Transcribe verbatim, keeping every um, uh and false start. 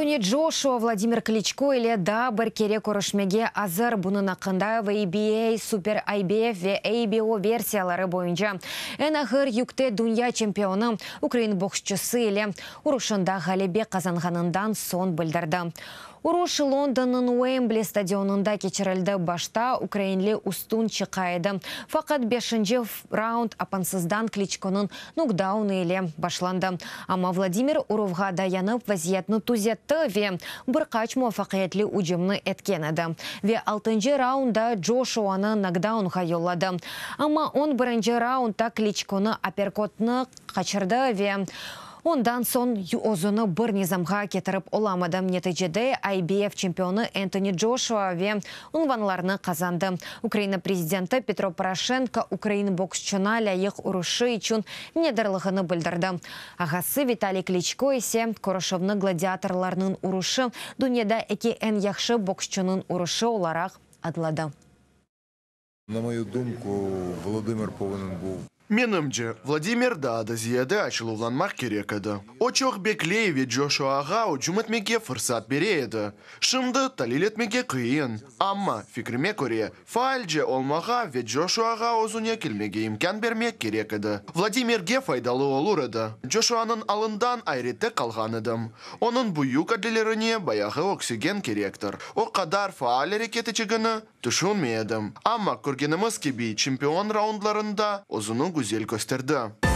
Entoni Joshua Vladimir Kliçko ile daa bir kere körüşmege azır. Bunıñ aqqında W B A, Super I B F ve A B O versiyaları boyunca eñ ağır yükte dünya çempionı ukrain boksçusı ile uruşında ğalebe qazanğanından soñ bildirdi. Uruş Londonnıñ Uembli stadionında keçirildi. Başta ukrainli üstün çıqa edi. Faqat beşinci raund apansızdan Kliçkonıñ nokdaunı ile başlandı. Amma Vladimir uruvğa dayanıp vaziyetni tüzetti ve bir qaç muvafaqiyetli ücümni etken edi. Ve altıncı raundda Joshuanı nokdaunğa yolladı. Amma on birinci raundda Kliçkonı aperkotnı qaçırdı ve ondan soñ özüni bir nizamğa ketirip olamadı. Neticede I B F çempionı Entoni Joshua ve unvanlarnı qazandı. Ukraina prezidenti Petro Poroşenko ukrain boksçuna lâyıq uruşı içün minnetdarlığını bildirdi. Ağası Vitaliy Kliçko ise körüşüvni gladiatorlarnıñ uruşı, dünyada eki eñ yahşı boksçunıñ uruşı olaraq adladı. На мою думку, Володимир повинен був Menimce, Vladimir daa da ziyade açuvlanmaq kerek edi. O çoq bekley ve Joshuağa ücüm etmege fırsat bere edi. Şimdi talil etmege qıyın. Amma, fikrime köre, faalce olmağa ve Joshuağa özüne kelmege imkân bermek kerek edi. Vladimirge faydalı olur edi. Joshuanıñ alından ayrette qalğan edim. Onıñ büyük adalelerine bayağı oksigen kerektir. O qadar faal areket etecegini tüşünmey edim. Amma körgenimiz kibi, çempion raundlarında özüni güzel kösterdi.